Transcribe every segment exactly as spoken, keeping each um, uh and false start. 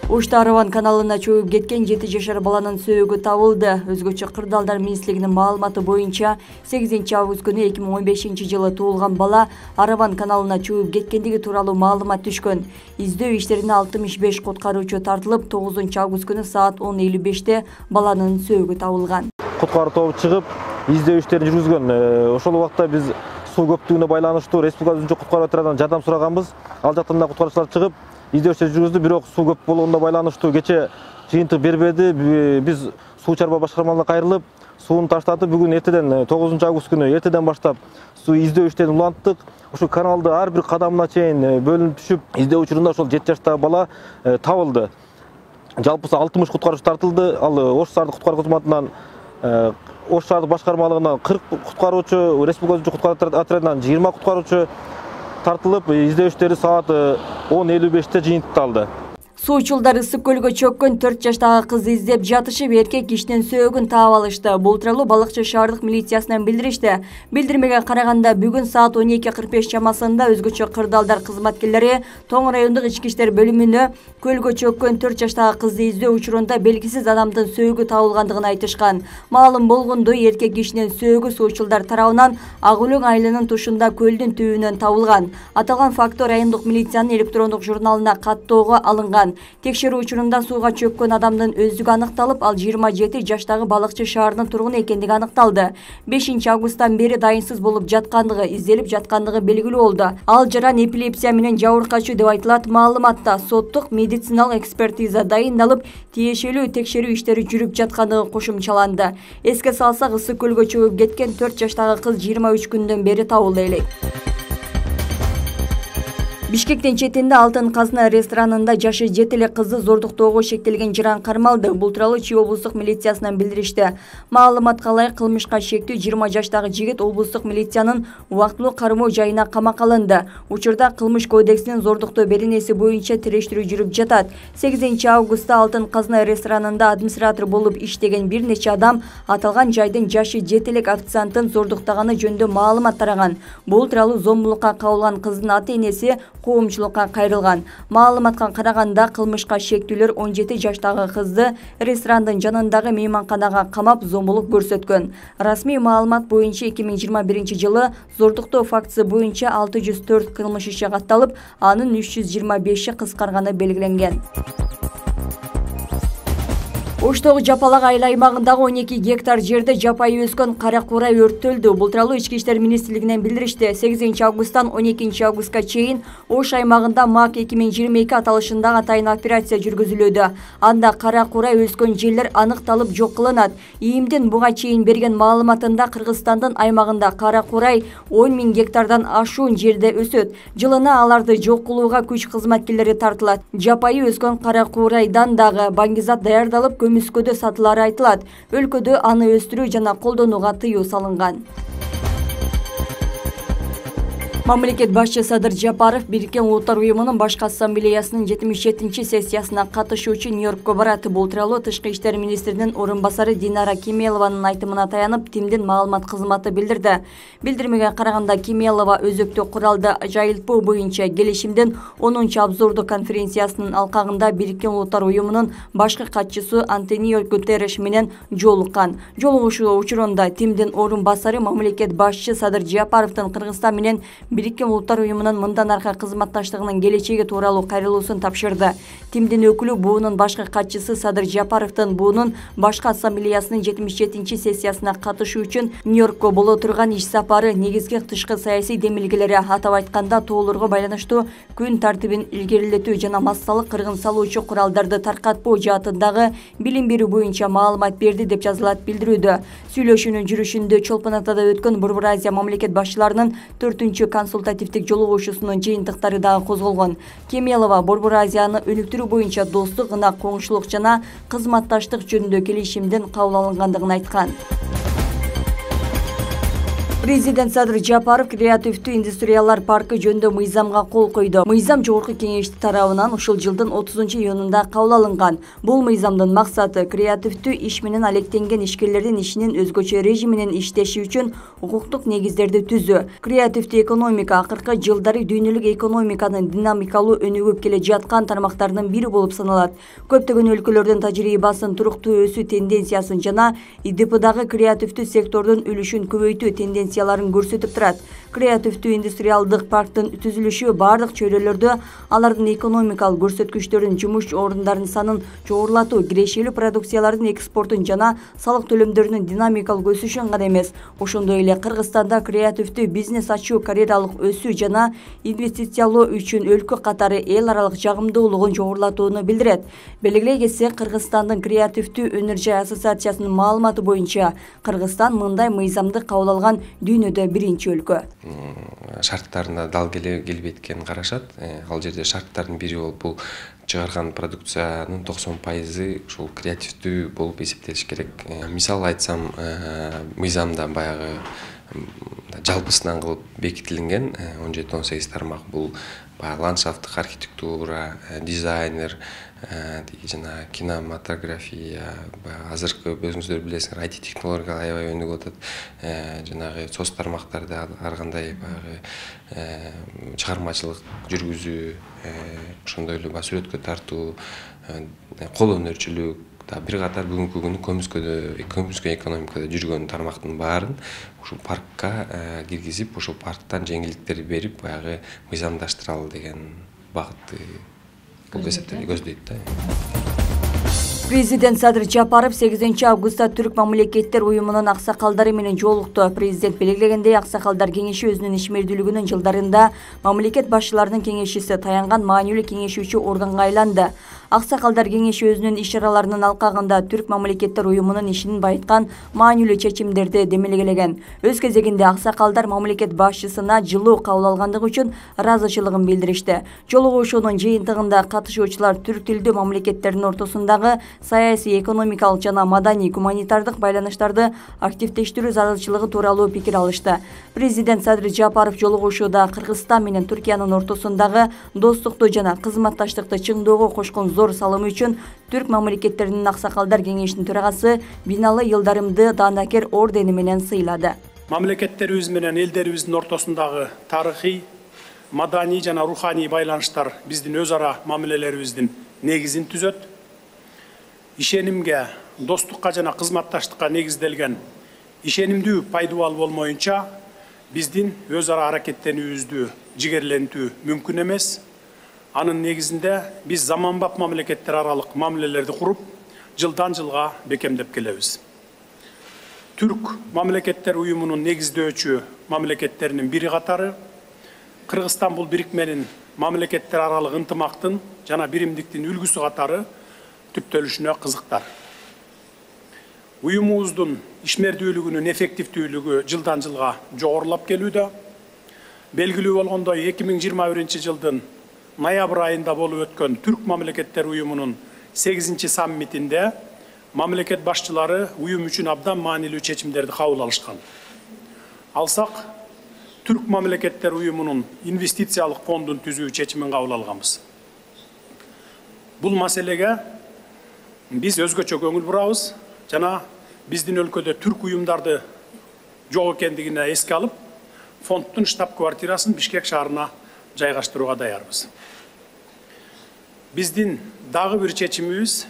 Ошто Араван каналына чөгүп кеткен жети жашар баланын сөөгү табылды. Өзгөчө Кырдаалдар министрлигинин маалыматы боюнча сегизинчи август күнү эки миң он бешинчи жылы туулган бала Араван каналына чөгүп кеткендиги тууралуу маалымат түшкөн. Издөө иштерине алтымыш беш куткаруучу тартылып, тогузунчу август күнү саат он элүү беште баланын сөөгү табылган. Куткаруу тобу чыгып, издөө иштерин жүргүзгөн. Ошол убакта биз суу көптүгүнө байланыштуу Республика үчүнчү куткаруу отрядынан жардам сураганбыз. Ал жактан да куткаруучулар чыгып, издөө иштери жүргүздү, бирок суу көп болгондо байланыштуу кече жыйынтык бербеди. Биз суу чарба башкармаларына кайрылып, сууну таштатып, бүгүн эртеден тогузунчу август күнү эртеден баштап суу издөө иштерин уланттык. Ошол каналды ар бир кадамына чейин бөлүнүп түшүп, издөө учурунда ошол жети жаштагы бала табылды. Жалпысы алтымыш куткаруучу тартылды. Ал Ош шаардык куткаруу кызматынан, Ош шаардык башкармалыгынан кырк куткаруучу, Республика үчүнчү куткаруу отрядынан жыйырма куткаруучу тартылып, издөө иштери саат он элүү беште жыйынтыкталды. Суучулдар ысык көлгө чөккөн төрт жаштагы кызды издеп жатышып, эркек кишинин сөөгүн таап алышты. Бул тууралуу Балыкчы шаардык милициясынан билдиришти. Билдирмеге караганда, бүгүн саат он эки кырк беш чамасында өзгөчө Кырдаалдар кызматкерлери Тоң райондук ички иштер бөлүмүнө көлгө чөккөн төрт жаштагы кызды издөө учурунда белгисиз адамдын сөөгү табылгандыгын айтышкан. Маалым болгондой, эркек кишинин сөөгү суучулдар тарабынан Ак Өлөң айылынын тушунда көлдүн түбүнөн табылган. Аталган факты райондук милициянын электрондук журналына каттоого алынган. Текшерүү учурунда сууга чөккөн адамдын өздүгү аныкталып, ал жыйырма жети жаштагы Балыкчы шаарынын тургуну экендиги аныкталды. бешинчи августтан бери дайынсыз болуп жаткандыгы, изделип жаткандыгы белгилүү болду. Ал жаран эпилепсия менен жабыркачуу деп айтылат. Маалыматта соттук медициналык экспертиза дайындалып, тиешелүү текшерүү иштери жүрүп жаткандыгы кошумчаланды. Эске салсак, ысык көлгө чөгүп кеткен төрт жаштагы кыз жыйырма үч күндөн бери табылды элек. Бишкектин четинде Алтын Казына ресторанында жашы жети эле кызды зордуктоого шектелген жаран кармалды. Бул тууралуу Чүй облустук милициясынан билдиришти. Маалыматка ылайык, кылмышка шектүү жыйырма жаштагы жигит облустук милициянын убактылуу кармоо жайына камакка алынды. Учурда Кылмыш кодексинин зордуктоо беренеси боюнча териштирүү жүрүп жатат. сегизинчи августта Алтын Казына ресторанында администратор болуп иштеген бир нече адам аталган жайдын жашы жети элек официанттын зордуктаганы жөнүндө маалымат тараган. Бул тууралуу зомбулукка кабылган кыздын ата-энеси коомчулукка кайрылган. Маалыматка караганда, кылмышка шектүүлөр он жети жаштагы кызды ресторандын жанындагы мейманканага камап зомбулук көрсөткөн. Расмий маалымат боюнча эки миң жыйырма биринчи жылы зордуктоо фактысы боюнча алты жүз төрт кылмыш иши катталып, анын үч жүз жыйырма беши кыскарганы белгиленген. Оштогу Жапалак айыл аймагындагы он эки гектар жерде жапайы өскөн кара курай өрттөлдү. Бул тууралуу Ички иштер министрлигинен билдиришти. сегизинчи августтан он экинчи августка чейин Ош аймагында МАК эки миң жыйырма эки аталышындагы атайын операция жүргүзүлүүдө. Анда кара курай өскөн жерлер аныкталып жок кылынат. ИИМдин буга чейин берген маалыматында Кыргызстандын аймагында кара курай он миң гектардан ашуун жерде өсөт. Жылына аларды жок кылууга күч кызматкерлери тартылат. Жапайы өскөн кара курайдан дагы баңгизат даярдалып, көмүскөдө сатылары айтылат. Өлкөдө аны өстүрүү жана колдонууга тыюу салынган. Мамлекет башчы Садыр Жапаров Бириккен Улуттар уюмунун башкы ассамблеясынын жетимиш жетинчи сессиясына катышуу үчүн Нью-Йоркко барат. Бул тууралуу Тышкы иштер министринин орун басары Динара Кемелованын айтымына таянып, ТИМдин маалымат кызматы билдирди. Билдирмеге караганда, Кемелова өзөктү куралды жайылтпоо боюнча келишимдин онунчу обзордук конференциясынын алкагында Бириккен Улуттар уюмунун башкы катчысы Антонио Гутерриш менен жолуккан. Жолугушуу учурунда ТИМдин орун басары мамлекет башчы Садыр Жапаровдун Кыргызстан менен Бириккен Улуттар уюмунун мындан аркы кызматташтыгынын келечеги тууралуу кайрылуусун тапшырды. ТИМдин өкүлү буунун башкы катчысы Садыр Жапаровдун буунун башкы ассамблеясынын жетимиш жетинчи сессиясына катышуу үчүн Нью-Йоркко боло турган иш сапары негизги тышкы саясий демилгелери, атап айтканда тоолорго байланыштуу күн тартибин илгерилетүү жана массалык кыргын салуучу куралдарды таркатпоо жаатындагы билим берүү боюнча маалымат берди деп жазылат билдирүүдө. Сүйлөшүүнүн жүрүшүндө Чолпон Атада өткөн Борбор Азия мамлекет башчыларынын төртүнчү консультативдик жолугушуусунун жыйынтыктары дагы козголгон. Кемелова Борбор Азияны өнүктүрүү боюнча достук, ынак коңшулук жана кызматташтык жөнүндө келишимдин кабыл алынгандыгын айткан. Президент Садыр Жапаров креативдүү индустриялар паркы жөнүндө мыйзамга кол койду. Мыйзам жогорку кеңешти тарабынан ушул жылдын отузунчу июнунда кабыл алынган. Бул мыйзамдын максаты креативдүү иш менен алектенген ишкерлердин ишинин өзгөчө режиминен иштеши үчүн укуктук негиздерди түзүү. Креативдүү экономика акыркы жылдары дүйнөлүк экономиканын динамикалуу өнүгүп келе жаткан тармактарынын бири болуп саналат. Көптөгөн өлкөлөрдүн тажрыйбасын туруктуу өсүү тенденциясын жана И Д П'дагы креативдүү сектордун үлүшүн көбөйтүү тенденцияларын көрсөтүп турат. Креативдүү индустриалдык парктын түзүлүшү бардык чөйрөлөрдө алардын экономикалык көрсөткүчтөрүн, жумуш орундарынын санын жогорулатуу, кирешелүү продукциялардын экспортун жана салык төлөмдөрүнүн динамикалык өсүшүн гана эмес, ошондой эле Кыргызстанда креативдүү бизнес ачуу, карьералык өсүү жана инвестициялоо үчүн өлкө катары эл аралык жагымдуулугун жогорулатууну билдирет. Белгилей кетсек, Кыргызстандын креативдүү өнөр жай ассоциациясынын маалыматы боюнча Кыргызстан мындай мыйзамды кабыл алган дүйнөдө биринчи өлкө. Шарттарына дал келбейт экенин карашат. Ал жерде шарттардын бири болуп бул чыгарган продукциянын токсон пайызы ушул креативдүү болуп эсептелиш керек. Мисал айтсам, мыйзамда баягы жалпысынан кылып бекитилген он жети он сегиз тармак. Бул баягы ландшафттык архитектура, дизайнер, жана кинематография, азыркы өзүңүздөр билесиңер, ай ти технологиялар аябай өнүгүп атат. Жанагы соц тармактарда ар кандай баягы чыгармачылык жүргүзүү, ошондой эле сүрөткө тартуу, кол өнөрчүлүк, бир катар бүгүнкү күнү көмүскөдө көмүскө экономикада жүргөн тармактын баарын ушул паркка киргизип, ушул парктан жеңилдиктер берип, баягы мыйзамдаштыралы деген багытты көздөйт да. Президент Садыр Жапаров сегизинчи августта Түрк мамлекеттер уюмунун аксакалдары менен жолукту. Президент белгилегендей, аксакалдар кеңеши өзүнүн ишмердүүлүгүнүн жылдарында мамлекет башчыларынын кеңешчиси, таянган маанилүү кеңешүүчү органга айланды. Аксакалдар кеңеши өзүнүн иш-чараларынын алкагында Түрк мамлекеттер уюмунун ишин байыткан маанилүү чечимдерди демелгелеген. Өз кезегинде аксакалдар мамлекет башчысына жылуу кабыл алгандыгы үчүн ыраазычылыгын билдиришти. Жолугушуунун жыйынтыгында катышуучулар түрк тилдүү мамлекеттердин ортосундагы саясий, экономикалык жана маданий, гуманитардык байланыштарды активдештирүү зарылчылыгы тууралуу пикир алышты. Президент Садыр Жапаров жолугушууда Кыргызстан менен Түркиянын ортосундагы достукту жана кызматташтыкты чыңдоого кошкон зор салымы үчүн Түрк мамлекеттеринин аксакалдар кеңешинин төрагасы Биналы Йылдарымды Даанакер ордени менен сыйлады. Мамлекеттерибиз менен элдерибиздин ортосундагы тарыхый, маданий жана руханий байланыштар биздин өз ара мамилелерибиздин негизин түзөт. Ишенимге, достукка жана кызматташтыкка негизделген ишенимдүү пайдубал болмоюнча биздин өз ара аракеттенүүбүздү жигерлентүү мүмкүн эмес. Анын негизинде биз заманбап мамлекеттер аралык мамилелерди куруп, жылдан жылга бекемдеп келебиз. Түрк мамлекеттер уюмунун негиздөөчү мамлекеттеринин бири катары Кыргызстан бул бирикменин мамлекеттер аралык ынтымактын жана биримдиктин үлгүсү катары түптөлүшүнө кызыктар. Уюмубуздун ишмердүүлүгүнүн эффективдүүлүгү жылдан жылга жогорулап келүүдө. Белгилүү болгондой, эки миң жыйырма биринчи жылдын ноябрь айында болуп өткөн Түрк мамлекеттер уюмунун сегизинчи саммитинде мамлекет башчылары уюм үчүн абдан маанилүү чечимдерди кабыл алышкан. Алсак, Түрк мамлекеттер уюмунун инвестициялык фондун түзүү чечимин кабыл алганбыз. Бул маселеге биз өзгөчө көңүл бурабыз жана биздин өлкөдө түрк уюмдарды жок экендигине эске алып, фонддун штаб-квартирасын Бишкек шаарына жайгаштырууга даярбыз. Биздин дагы бир чечимибиз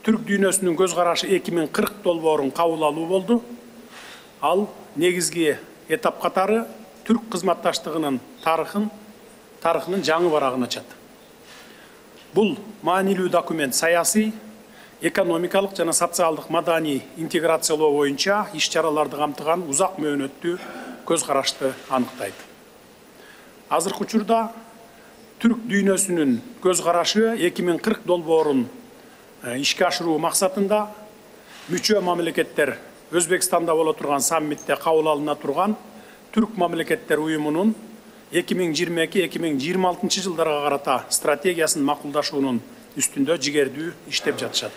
түрк дүйнөсүнүн көз карашы эки миң кырк долбоорун кабыл алуу болду. Ал негизги этап катары түрк кызматташтыгынын тарыхын, тарыхынын жаңы барагын ачат. Бул маанилүү документ саясий, экономикалык жана социалдык маданий интеграциялоо боюнча иш-чараларды камтыган узак мөөнөттүү көз карашты аныктайт. Азыркы учурда түрк дүйнөсүнүн көз карашы эки миң кырк долбоорун ишке ашыруу максатында мүчө мамлекеттер Өзбекстанда боло турган саммитте кабыл алына турган Түрк мамлекеттер уюмунун эки миң жыйырма эки эки миң жыйырма алтынчы жылдарга карата стратегиясын макулдашуунун үстүндө жигердүү иштеп жатышат.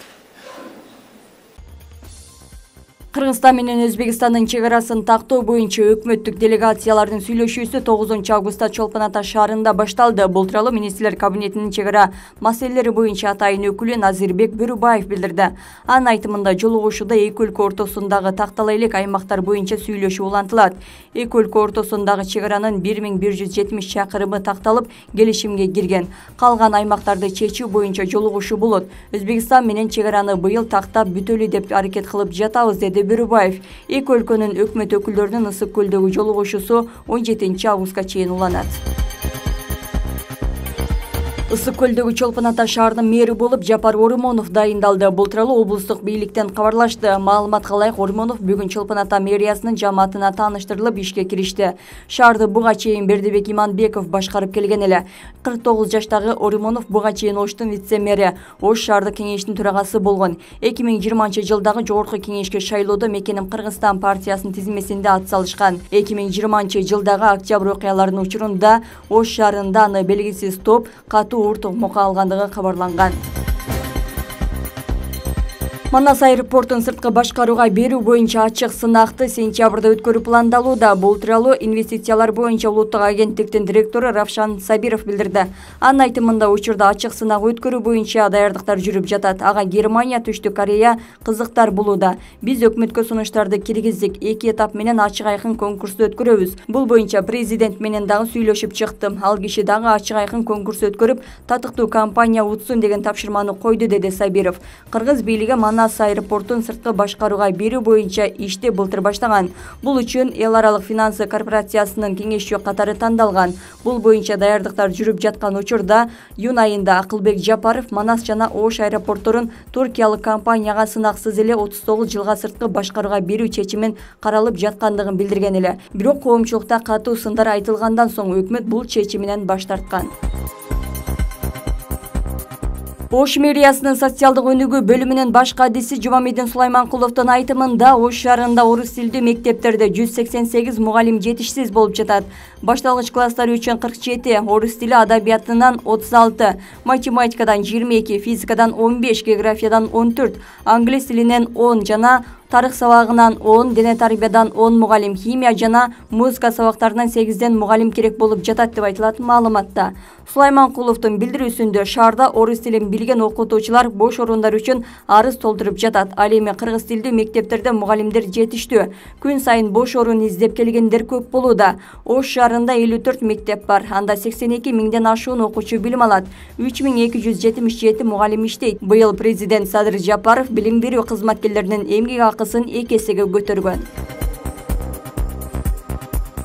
Кыргызстан менен Өзбекстандын чек арасын тактоо боюнча өкмөттүк делегациялардын сүйлөшүүсү тогузунчу августта Чолпон Ата шаарында башталды. Бул тууралуу Министрлер кабинетинин чек ара маселелери боюнча атайын өкүлү Назирбек Бөрүбаев билдирди. Анын айтымында жолугушууда эки өлкө ортосундагы тактала элек аймактар боюнча сүйлөшүү улантылат. Эки өлкө ортосундагы чек аранын бир миң бир жүз жетимиш чакырымы такталып, келишимге кирген. Калган аймактарды чечүү боюнча жолугушуу болот. Өзбекстан менен чек араны быйыл тактап бүтөлү деп аракет кылып жатабыз, деди Бөрүбаев. Эки өлкөнүн өкмөт өкүлдөрүнүн Ысык көлдөгү жолугушуусу он жетинчи августка чейин уланат. Ысык көлдөгү Чолпон Ата шаарынын мэри болуп Жапар Ормонов дайындалды. Бул тууралуу облустук бийликтен кабарлашты. Маалыматка ылайык, Ормонов бүгүн Чолпон Ата мэриясынын жамаатына тааныштырылып ишке киришти. Шаарды буга чейин Бердибек Иманбеков башкарып келген эле. кырк тогуз жаштагы Ормонов буга чейин Оштун вице-мэри, Ош шаардык кеңештин төрагасы болгон. эки миң жыйырманчы жылдагы жогорку кеңешке шайлоодо Мекеним Кыргызстан партиясынын тизмесинде ат салышкан. эки миң жыйырманчы жылдагы октябрь окуяларынын учурунда Ош шаарында аны белгисиз топ катуу оор токмокко алгандыгы кабарланган. Манас аэропортун сырткы башкарууга берүү боюнча ачык сынакты сентябрда өткөрүү пландалууда. Бул тууралуу инвестициялар боюнча улуттук агенттиктин директору Равшан Сабиров билдирди. Анын айтымында учурда ачык сынак өткөрүү боюнча даярдыктар жүрүп жатат. Ага Германия, Түштүк Корея кызыктар болууда. Биз өкмөткө сунуштарды киргиздик. Эки этап менен ачык айкын конкурсту өткөрөбүз. Бул боюнча президент менен дагы сүйлөшүп чыктым. Ал киши дагы ачык айкын конкурс өткөрүп, татыктуу компания утсун деген тапшырманы койду, деди Сабиров. Кыргыз бийлиги Манас аэропортун сырткы башкарууга берүү боюнча ишти былтыр баштаган. Бул үчүн эл аралык финансы корпорациясынын кеңешчү катары тандалган. Бул боюнча даярдыктар жүрүп жаткан учурда июнь айында Акылбек Жапаров Манас жана Ош аэропортторун туркиялык компанияга сынаксыз эле отуз тогуз жылга сырткы башкарууга берүү чечимин каралып жаткандыгын билдирген эле. Бирок коомчулукта катуу сындар айтылгандан соң өкмөт бул чечиминен баш тарткан. Ош мэриясынын социалдык өнүгүү бөлүмүнүн баш кадиси Жумамидин Сулайманкуловдун айтымында Ош шаарында орус тилдүү мектептерде жүз сексен сегиз мугалим жетишсиз болуп жатат. Башталгыч класстар үчүн кырк жети, орус тили адабиятынан отуз алты, математикадан жыйырма эки, физикадан он беш, географиядан он төрт, англис тилинен он жана тарых сабагынан он, дене тарбиядан он мугалим, химия жана музыка сабактарынан сегизден мугалим керек болуп жатат деп айтылат маалыматта. Сулайманкуловдун билдирүүсүндө шаарда орус тилин билген окутуучулар бош орундар үчүн арыз толтуруп жатат. Ал эми кыргыз тилдүү мектептерде мугалимдер жетиштүү. Күн сайын бош орун издеп келгендер көп болууда. Ош шаарында элүү төрт мектеп бар. Анда сексен эки миңден ашуун окуучу билим алат. үч миң эки жүз жетимиш жети мугалим иштейт. Быйыл президент Садыр Жапаров билим берүү кызматкерлеринин эмгек акысын эки эсеге көтөргөн.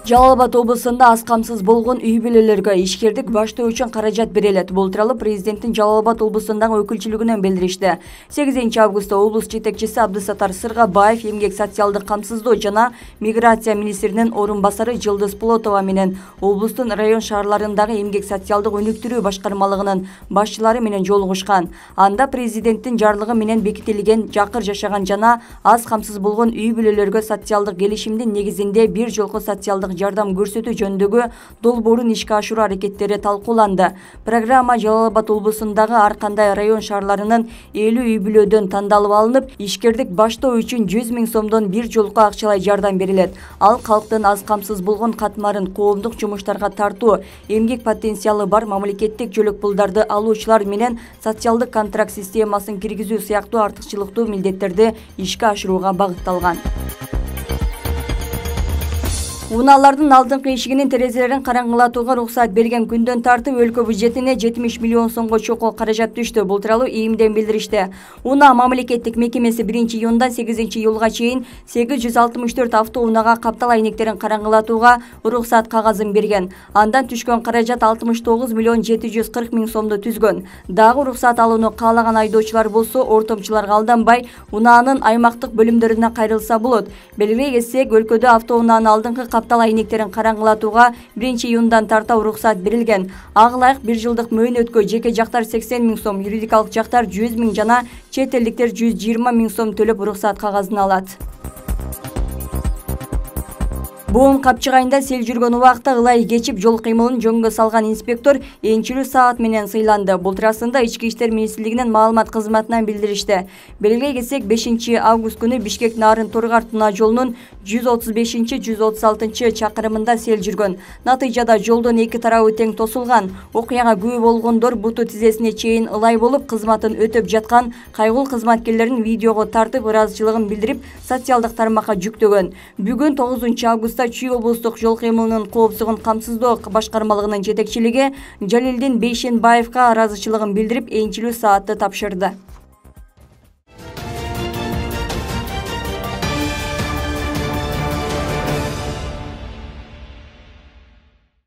Жалал-Абад облусунда аз камсыз болгон үй бүлөлөргө ишкердик баштоо үчүн каражат берилет. Бул тууралуу президенттин Жалал-Абад облусундагы өкүлчүлүгүнөн билдиришти. сегизинчи августта облус жетекчиси Абдысаттар Сыргабаев эмгек социалдык камсыздоо жана миграция министринин орун басары Жылдыз Плотова менен облустун район шаарларындагы эмгек социалдык өнүктүрүү башкармалыгынын башчылары менен жолугушкан. Анда президенттин жарлыгы менен бекитилген жакыр жашаган жана аз камсыз болгон үй бүлөлөргө социалдык келишимдин негизинде бир жолку социалдык жардам көрсөтүү жөнүндөгү долбоорун ишке ашыруу аракеттери талкууланды. Программа Жалал-Абад облусундагы ар кандай район шаарларынын элүү үй бүлөдөн тандалып алынып, ишкердик баштоо үчүн жүз миң сомдон бир жолку акчалай жардам берилет. Ал калктын аз камсыз болгон катмарын коомдук жумуштарга тартуу, эмгек потенциалы бар мамлекеттик жөлөк пулдарды алуучулар менен социалдык контракт системасын киргизүү сыяктуу артыкчылыктуу милдеттерди ишке ашырууга багытталган. Унаалардын алдыңкы эшигинин терезелерин караңгылатууга уруксат берген күндөн тартып өлкө бюджетине жетимиш миллион сомго чокул каражат түштү. Бул тууралуу ИИМден билдиришти. Унаа мамлекеттик мекемеси биринчи июндан сегизинчи июлга чейин сегиз жүз алтымыш төрт автоунага каптал айнектерин караңгылатууга уруксат кагазын берген. Андан түшкөн каражат алтымыш тогуз миллион жети жүз кырк миң сомду түзгөн. Дагы уруксат алууну каалаган айдоочулар болсо ортомчуларга алданбай унаанын аймактык бөлүмдөрүнө кайрылса болот. Белгилей кетсек, өлкөдө автоунаанын алдыңкы каптал айнектерин караңгылатууга биринчи июндан тарта уруксат берилген. Ага ылайык бир жылдык мөөнөткө жеке жактар сексен миң сом, юридикалык жактар жүз миң жана чет элдиктер жүз жыйырма миң сом төлөп уруксат кагазын алат. Буун капчыгайында сел жүргөн убакта ылай кечип жол кыймылын жөнгө салган инспектор энчилүү саат менен сыйланды. Бул туурасында Ички иштер министрлигинин маалымат кызматынан билдиришти. Белгилей кетсек, бешинчи август күнү Бишкек Нарын Тургар Туна жолунун жүз отуз бешинчи жүз отуз алтынчы чакырымында сел жүргөн. Натыйжада жолдун эки тарабы тең тосулган. Окуяга күбө болгондор буту тизесине чейин ылай болуп, кызматын өтөп жаткан кайгыл кызматкерлерин видеого тартып ыраазычылыгын билдирип, социалдык тармакка жүктөгөн. Бүгүн тогузунчу августта Чүй облустук жол кыймылынын коопсуздугун камсыздоо башкармалыгынын жетекчилиги Жалилдин Бейшенбаевка ыраазычылыгын билдирип, энчилүү саатты тапшырды.